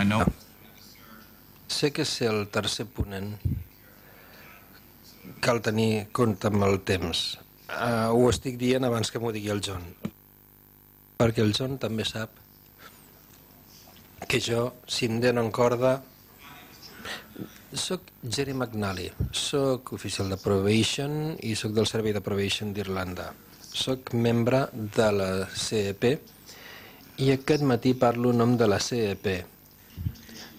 I know. Sé que ser el tercer ponent cal tenir compte amb el temps. Ho estic dient abans que m'ho digui el John, perquè el John també sap que jo, si em donen corda, soc Jerry McNally, soc oficial de Probation i soc del Servei de Probation d'Irlanda. Soc membre de la CEP i aquest matí parlo en nom de la CEP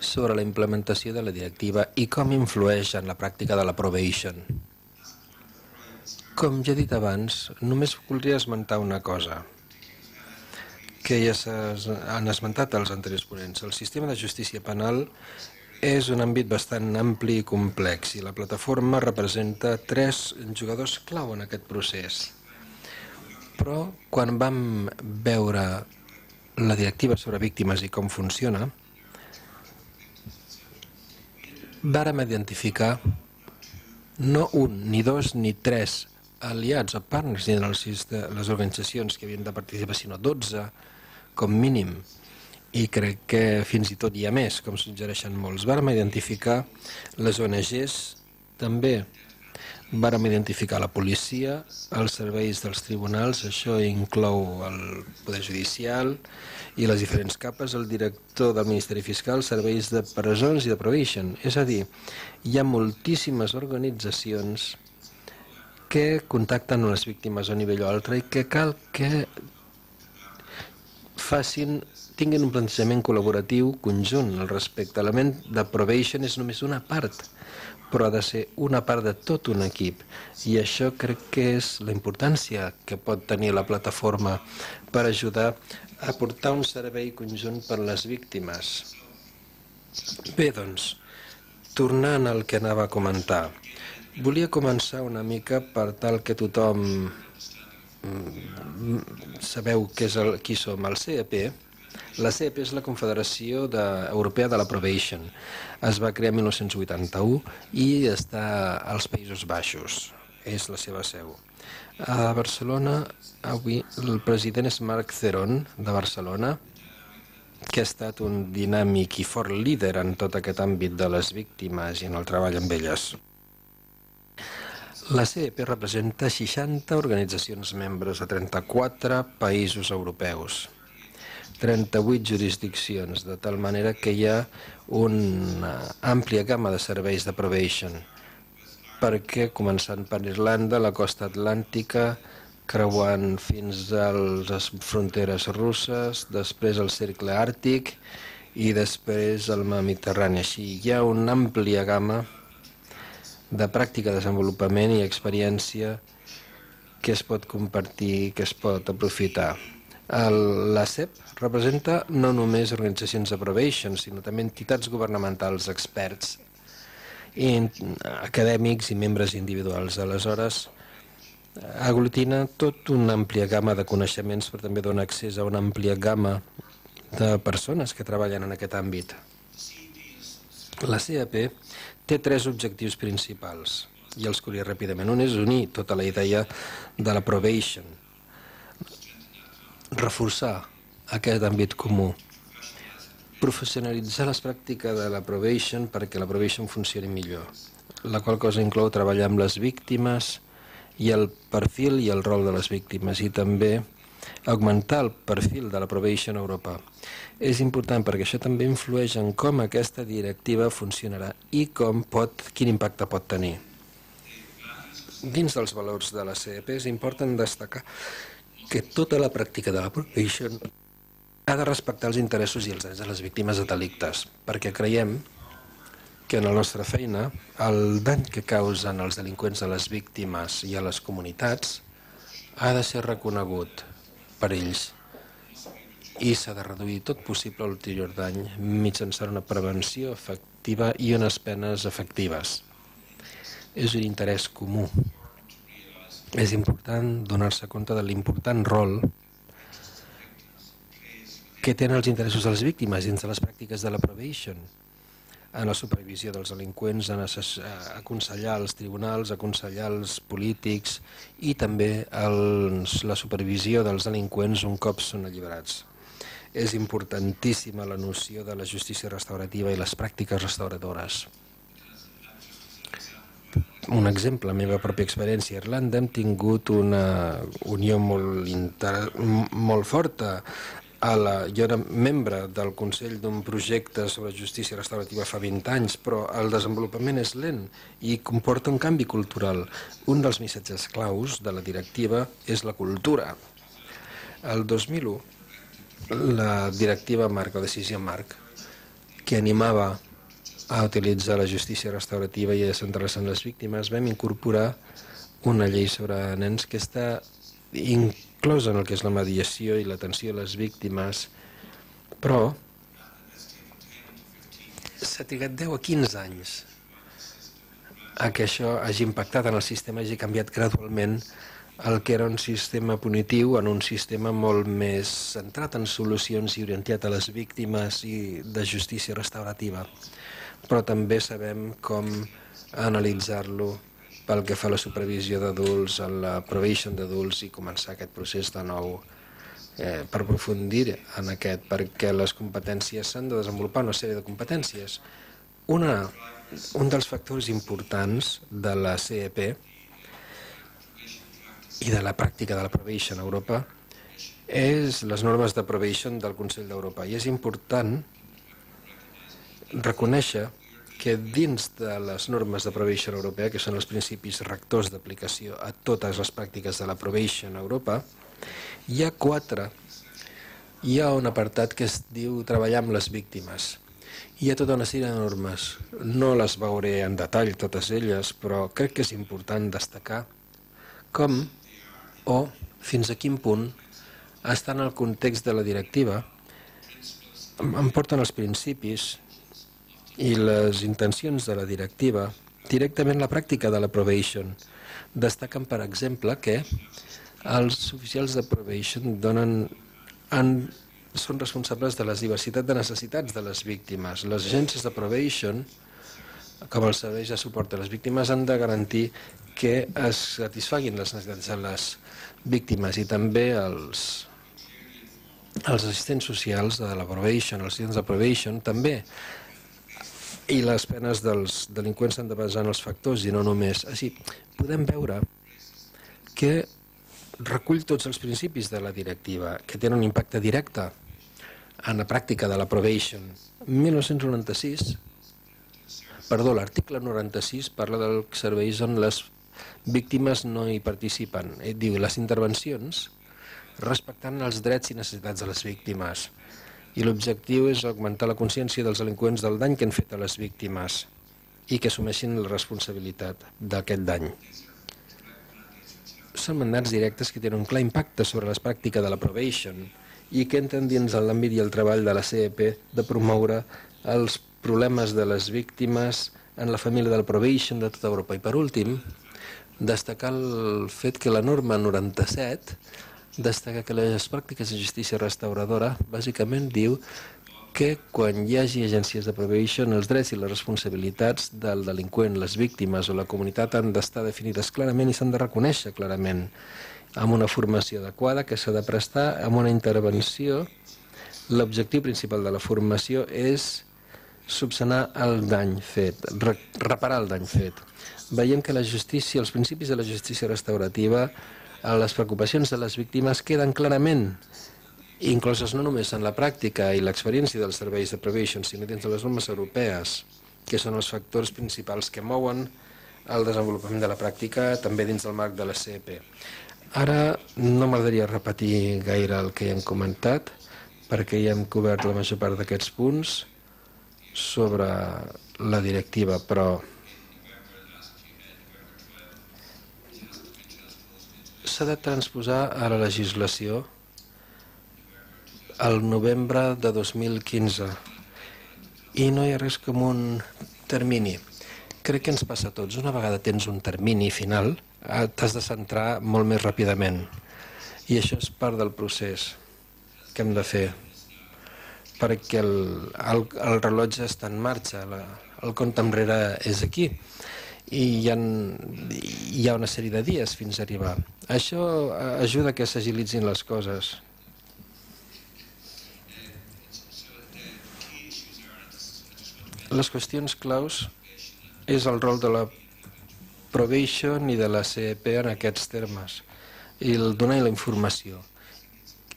sobre la implementació de la directiva i com influeix en la pràctica de la Probation. Com ja he dit abans, només voldria esmentar una cosa que ja han esmentat els anteriors ponents. El sistema de justícia penal és un àmbit bastant ampli i complex i la plataforma representa 3 jugadors clau en aquest procés. Però quan vam veure la directiva sobre víctimes i com funciona, vàrem identificar no un, ni dos, ni 3 aliats o partners en les organitzacions que havien de participar, sinó 12 com mínim. I crec que fins i tot hi ha més, com suggereixen molts. Vàrem identificar les ONGs, també vàrem identificar la policia, els serveis dels tribunals, això inclou el Poder Judicial i les diferents capes, el director del Ministeri Fiscal, serveis de presons i de probation. És a dir, hi ha moltíssimes organitzacions que contacten les víctimes a un nivell o altre i que cal que tinguin un plantejament col·laboratiu conjunt al respecte. L'element de probation és només una part, però ha de ser una part de tot un equip. I això crec que és la importància que pot tenir la plataforma per ajudar a portar un servei conjunt per a les víctimes. Bé, doncs, tornant al que anava a comentar, volia començar una mica per tal que tothom sabeu qui som. El CEP, la CEP és la Confederació Europea de la Probation. Es va crear en 1981 i està als Països Baixos. És la seva seu. A Barcelona, avui, el president és Marc Ceron, de Barcelona, que ha estat un dinàmic i fort líder en tot aquest àmbit de les víctimes i en el treball amb elles. La CEP representa 60 organitzacions membres a 34 països europeus, 38 jurisdiccions, de tal manera que hi ha una àmplia gamma de serveis de probation, perquè començant per Irlanda, la costa atlàntica, creuant fins a les fronteres russes, després el cercle àrtic i després el mar Mediterrani. Així hi ha una àmplia gamma de pràctica, desenvolupament i experiència que es pot compartir, que es pot aprofitar. La CEP representa no només organitzacions de probation, sinó també entitats governamentals, experts, acadèmics i membres individuals. Aleshores, aglutina tota una àmplia gamma de coneixements, però també dona accés a una àmplia gamma de persones que treballen en aquest àmbit. La CEP té 3 objectius principals, i els curé ràpidament. Un és unir tota la idea de la probation, reforçar aquest àmbit comú, professionalitzar les pràctiques de la probation perquè la probation funcioni millor, la qual cosa inclou treballar amb les víctimes i el perfil i el rol de les víctimes, i també augmentar el perfil de la probation a Europa. És important perquè això també influeix en com aquesta directiva funcionarà i quin impacte pot tenir. Dins dels valors de la CEP és important destacar que tota la pràctica de la probation ha de respectar els interessos i els drets de les víctimes de delictes, perquè creiem que en la nostra feina el dany que causen els delinqüents a les víctimes i a les comunitats ha de ser reconegut per ells i s'ha de reduir tot possible l'ulterior dany mitjançant una prevenció efectiva i unes penes efectives. És un interès comú. És important donar-se compte de l'important rol que tenen els interessos de les víctimes dins de les pràctiques de la probation, en la supervisió dels delinqüents, en aconsellar els tribunals, aconsellar els polítics i també la supervisió dels delinqüents un cop són alliberats. és importantíssima la noció de la justícia restaurativa i les pràctiques restauradores. Un exemple, la meva pròpia experiència a Irlanda, hem tingut una unió molt forta. Jo era membre del Consell d'un projecte sobre justícia restaurativa fa 20 anys, però el desenvolupament és lent i comporta un canvi cultural. Un dels missatges claus de la directiva és la cultura. El 2001, la directiva marc, la decisió marc, que animava a utilitzar la justícia restaurativa i a centrar-se en les víctimes, vam incorporar una llei sobre nens que està inclosa en el que és la mediació i l'atenció a les víctimes, però s'ha trigat 10 a 15 anys a que això hagi impactat en el sistema, hagi canviat gradualment el que era un sistema punitiu en un sistema molt més centrat en solucions i orientat a les víctimes i de justícia restaurativa. Però també sabem com analitzar-lo pel que fa a la supervisió d'adults, a la probation d'adults i començar aquest procés de nou per aprofundir en aquest, perquè les competències s'han de desenvolupar una sèrie de competències. Un dels factors importants de la CEP i de la pràctica de la probation a Europa és les normes de probation del Consell d'Europa, i és important reconèixer que dins de les normes de probation europea, que són els principis rectors d'aplicació a totes les pràctiques de la probation a Europa, hi ha un apartat que es diu treballar amb les víctimes. Hi ha tota una sèrie de normes. No les veuré en detall totes elles, però crec que és important destacar com o fins a quin punt estan en el context de la directiva, em porten els principis i les intencions de la directiva directament la pràctica de la probation. Destaquen, per exemple, que els oficials de probation són responsables de la diversitat de necessitats de les víctimes. Les agències de probation, com els serveis de suport a les víctimes, han de garantir que es satisfaguin les necessitats de les víctimes, i també els assistents socials de la probation, els assistents de probation, també. I les penes dels delinqüents s'han de basar en els factors i no només. Així, podem veure que recull tots els principis de la directiva, que tenen un impacte directe en la pràctica de la probation. L'article 96 parla dels serveis on les víctimes no hi participen. Diu les intervencions respectant els drets i necessitats de les víctimes. I l'objectiu és augmentar la consciència dels delinqüents del dany que han fet a les víctimes i que assumeixin la responsabilitat d'aquest dany. Són mandats directes que tenen un clar impacte sobre la pràctica de la probation i que entren dins l'àmbit i el treball de la CEP de promoure els problemes de les víctimes en la família de la probation de tota Europa. I per últim, destacar el fet que la norma 97 destaca que les pràctiques de justícia restauradora bàsicament diu que quan hi hagi agències de probation, els drets i les responsabilitats del delinqüent, les víctimes o la comunitat han d'estar definides clarament i s'han de reconèixer clarament amb una formació adequada que s'ha de prestar amb una intervenció. L'objectiu principal de la formació és subsanar el dany fet, reparar el dany fet. Veiem que la justícia, els principis de la justícia restaurativa, les preocupacions de les víctimes queden clarament incloses no només en la pràctica i l'experiència dels serveis de probation, sinó dins de les normes europees, que són els factors principals que mouen el desenvolupament de la pràctica també dins del marc de la CEP. Ara no m'agradaria repetir gaire el que ja hem comentat, perquè ja hem cobert la major part d'aquests punts sobre la directiva, però s'ha de transposar a la legislació el novembre de 2015 i no hi ha res com un termini. Crec que ens passa a tots. Una vegada tens un termini final, t'has de centrar molt més ràpidament i això és part del procés que hem de fer perquè el rellotge està en marxa, el compte enrere és aquí i hi ha una sèrie de dies fins a arribar. Això ajuda que s'agilitzin les coses. les qüestions claus és el rol de la probation i de la CEP en aquests termes, i el donar la informació.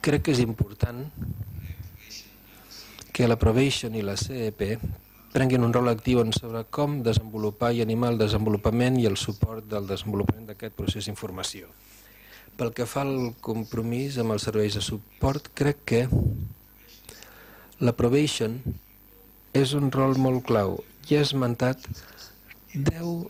Crec que és important que la probation i la CEP prenguin un rol actiu sobre com desenvolupar i animar el desenvolupament i el suport del desenvolupament d'aquest procés d'informació. Pel que fa al compromís amb els serveis de suport, crec que la probation és un rol molt clau. Ja he esmentat 10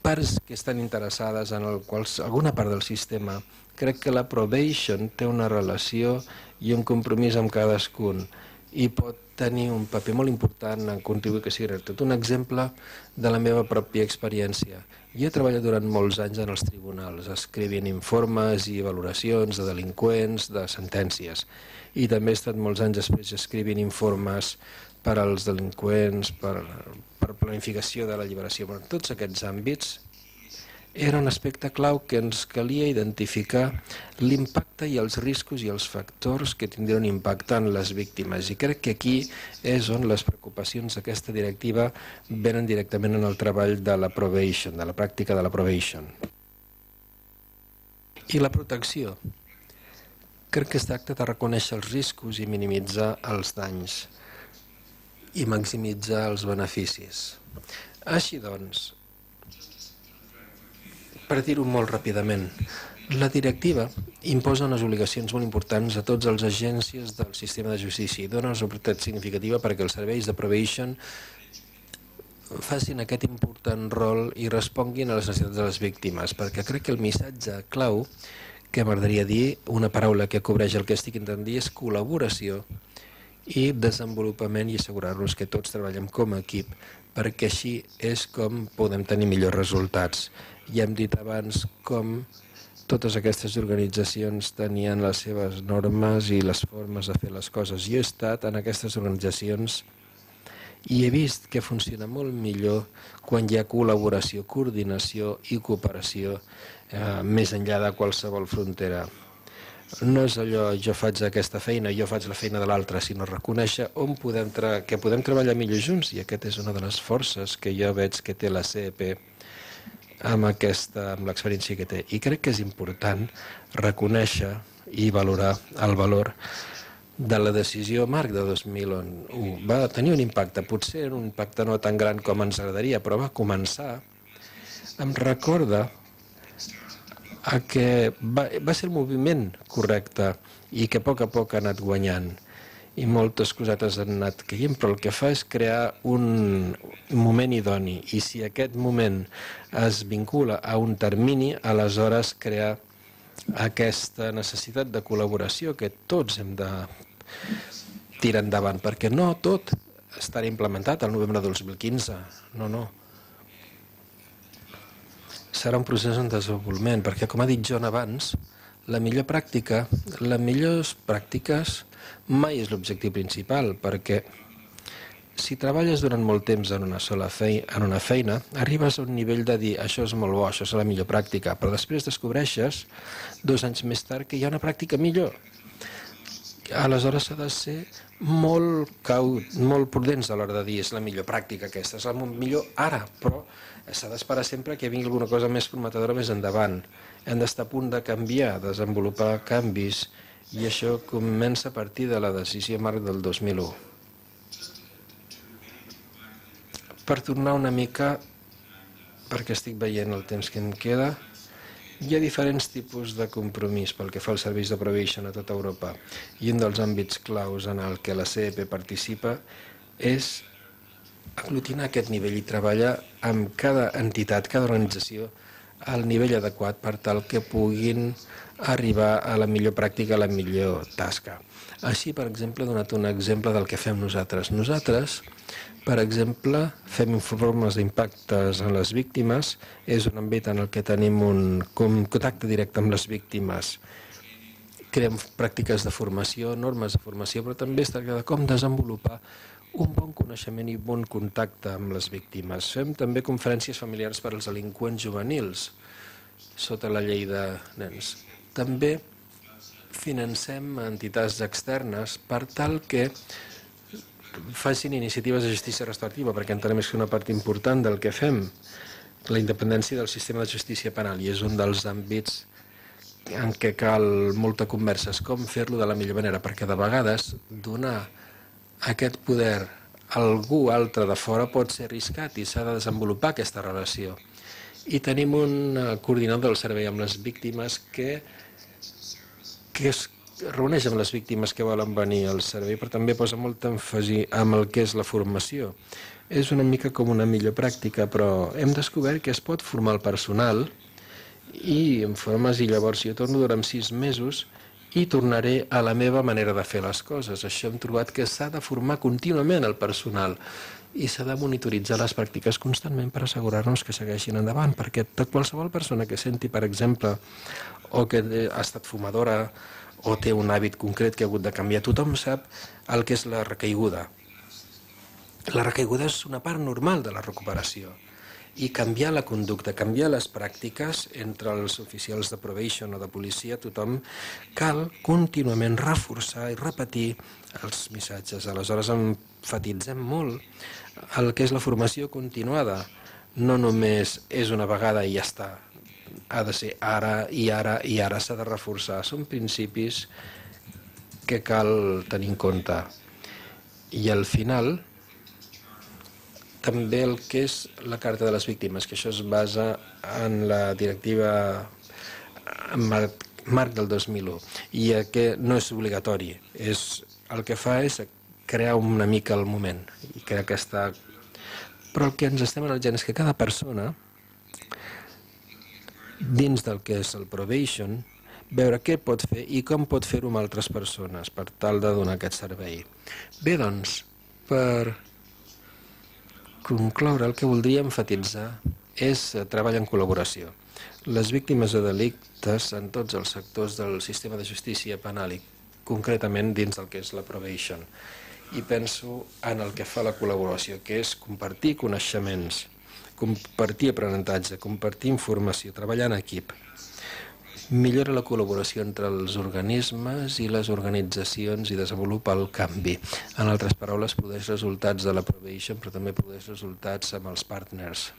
parts que estan interessades en alguna part del sistema. Crec que la probation té una relació i un compromís amb cadascun i pot tenir un paper molt important en contribuir que sigui tot. Un exemple de la meva pròpia experiència. Jo he treballat durant molts anys en els tribunals, escrivint informes i valoracions de delinqüents, de sentències. I també he estat molts anys després escrivint informes per als delinqüents, per planificació de la lliberació. Però en tots aquests àmbits era un aspecte clau que ens calia identificar l'impacte i els riscos i els factors que tindrien un impacte en les víctimes. I crec que aquí és on les preocupacions d'aquesta directiva venen directament en el treball de la probation, de la pràctica de la probation. I la protecció. Crec que es tracta de reconèixer els riscos i minimitzar els danys i maximitzar els beneficis. Així doncs, per dir-ho molt ràpidament, la directiva imposa unes obligacions molt importants a tots els agències del sistema de justícia i dona una oportunitat significativa perquè els serveis de probation facin aquest important rol i responguin a les necessitats de les víctimes, perquè crec que el missatge clau que m'agradaria dir, una paraula que cobreix el que estic intentant dir, és col·laboració i desenvolupament i assegurar-nos que tots treballem com a equip, perquè així és com podem tenir millors resultats. Ja hem dit abans com totes aquestes organitzacions tenien les seves normes i les formes de fer les coses. Jo he estat en aquestes organitzacions i he vist que funciona molt millor quan hi ha col·laboració, coordinació i cooperació més enllà de qualsevol frontera. No és allò, jo faig aquesta feina, jo faig la feina de l'altre, sinó reconèixer que podem treballar millor junts, i aquesta és una de les forces que jo veig que té la CEP amb l'experiència que té. I crec que és important reconèixer i valorar el valor de la decisió marc de 2001. Va tenir un impacte, potser un impacte no tan gran com ens agradaria, però va començar. Em recorda que va ser el moviment correcte i que a poc ha anat guanyant i moltes cosetes han anat caient, però el que fa és crear un moment idoni, i si aquest moment es vincula a un termini, aleshores crear aquesta necessitat de col·laboració que tots hem de tirar endavant, perquè no tot estarà implementat al novembre de 2015, no. Serà un procés en desenvolupament, perquè, com ha dit John abans, les millors pràctiques mai és l'objectiu principal, perquè si treballes durant molt temps en una feina, arribes a un nivell de dir això és molt bo, això és la millor pràctica, però després descobreixes, 2 anys més tard, que hi ha una pràctica millor. Aleshores s'ha de ser molt prudents a l'hora de dir és la millor pràctica aquesta, és la millor ara, però s'ha d'esperar sempre que vingui alguna cosa més prometedora més endavant. Hem d'estar a punt de canviar, desenvolupar canvis, i això comença a partir de la decisió marc del 2001. Per tornar una mica, perquè estic veient el temps que em queda, hi ha diferents tipus de compromís pel que fa als serveis de probation a tota Europa, i un dels àmbits claus en el que la CEP participa és aglutinar aquest nivell i treballar amb cada entitat, cada organització, al nivell adequat per tal que puguin arribar a la millor pràctica, a la millor tasca. Així, per exemple, he donat un exemple del que fem nosaltres. Nosaltres, per exemple, fem informes d'impactes en les víctimes, és un àmbit en el que tenim un contacte directe amb les víctimes. Creem pràctiques de formació, normes de formació, però també es tracta de com desenvolupar un bon coneixement i bon contacte amb les víctimes. Fem també conferències familiars per als delinqüents juvenils, sota la llei de nens. També financem entitats externes per tal que facin iniciatives de justícia restaurativa, perquè entenem que és una part important del que fem, la independència del sistema de justícia penal, i és un dels àmbits en què cal molta conversa, com fer-lo de la millor manera, perquè de vegades donar aquest poder a algú altre de fora pot ser arriscat i s'ha de desenvolupar aquesta relació. I tenim un coordinador del servei amb les víctimes que es reuneix amb les víctimes que volen venir al servei, però també posa molt èmfasi amb el que és la formació. És una mica com una millor pràctica, però hem descobert que es pot formar el personal i en formes, i llavors jo torno durant 6 mesos i tornaré a la meva manera de fer les coses. Això hem trobat que s'ha de formar contínuament el personal i s'ha de monitoritzar les pràctiques constantment per assegurar-nos que segueixin endavant, perquè qualsevol persona que senti, per exemple, o que ha estat fumadora o té un hàbit concret que ha hagut de canviar, tothom sap el que és la recaiguda. La recaiguda és una part normal de la recuperació. I canviar la conducta, canviar les pràctiques entre els oficials de probation o de policia, tothom cal contínuament reforçar i repetir els missatges. Aleshores emfatitzem molt el que és la formació continuada. No només és una vegada i ja està. Ha de ser ara i ara i ara, s'ha de reforçar. Són principis que cal tenir en compte. I al final també el que és la Carta de les Víctimes, que això es basa en la directiva marc del 2001, i que no és obligatori. El que fa és crear una mica el moment. I crec que està... Però el que ens estem analitzant és que cada persona, dins del que és el probation, veure què pot fer i com pot fer-ho amb altres persones per tal de donar aquest servei. Bé, doncs, per concloure, el que voldria enfatitzar és treball en col·laboració. Les víctimes de delictes en tots els sectors del sistema de justícia penal i concretament dins del que és la probation. I penso en el que fa la col·laboració, que és compartir coneixements, compartir aprenentatge, compartir informació, treballar en equip. Millora la col·laboració entre els organismes i les organitzacions i desenvolupa el canvi. En altres paraules, produeix resultats de la probation, però també produeix resultats amb els partners.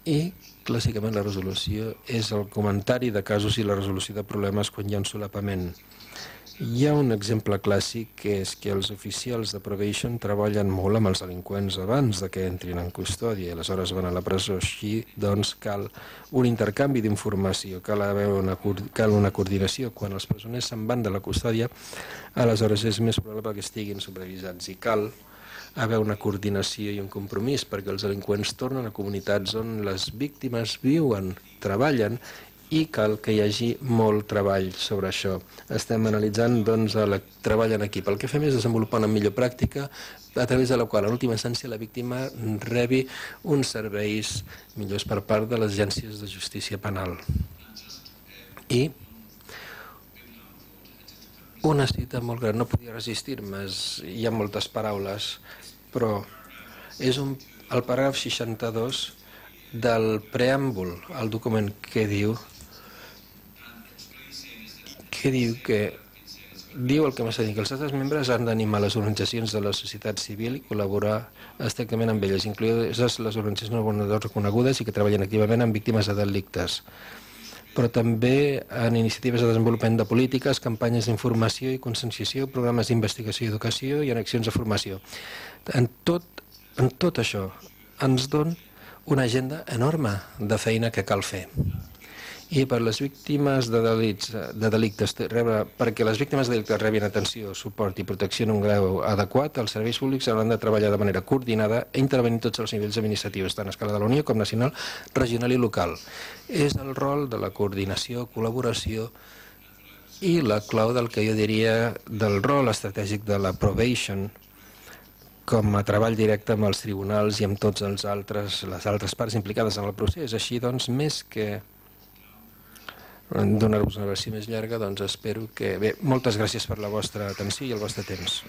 I, clàssicament, la resolució és el comentari de casos i la resolució de problemes quan hi ha un solapament. Hi ha un exemple clàssic, que és que els oficials de probation treballen molt amb els delinqüents abans de que entrin en custòdia i aleshores van a la presó. Així, doncs, cal un intercanvi d'informació, cal una coordinació. Quan els presoners se'n van de la custòdia, aleshores és més probable que estiguin supervisats i cal haver una coordinació i un compromís perquè els delinqüents tornen a comunitats on les víctimes viuen, treballen, i cal que hi hagi molt treball sobre això. Estem analitzant doncs, el treball en equip. El que fem és desenvolupar una millor pràctica a través de la qual, en última instància, la víctima rebi uns serveis millors per part de les agències de justícia penal. I una cita molt gran, no podia resistir-me, hi ha moltes paraules, però és el paràgraf 62 del preàmbul al document que diu el que m'està dient, que els altres membres han d'animar les organitzacions de la societat civil i col·laborar estrictament amb elles, incloses les organitzacions no reconegudes i que treballen activament amb víctimes de delictes, però també en iniciatives de desenvolupament de polítiques, campanyes d'informació i conscienciació, programes d'investigació i educació i en accions de formació. En tot això ens dona una agenda enorme de feina que cal fer. I per les víctimes de delictes, perquè les víctimes de delictes rebin atenció, suport i protecció en un grau adequat, els serveis públics hauran de treballar de manera coordinada i intervenir tots els nivells administratius, tant a escala de la Unió com nacional, regional i local. És el rol de la coordinació, col·laboració i la clau del que jo diria del rol estratègic de la probation com a treball directe amb els tribunals i amb tots les altres parts implicades en el procés. Així, doncs, més que donar-vos una versió més llarga, doncs espero que... Bé, moltes gràcies per la vostra atenció i el vostre temps.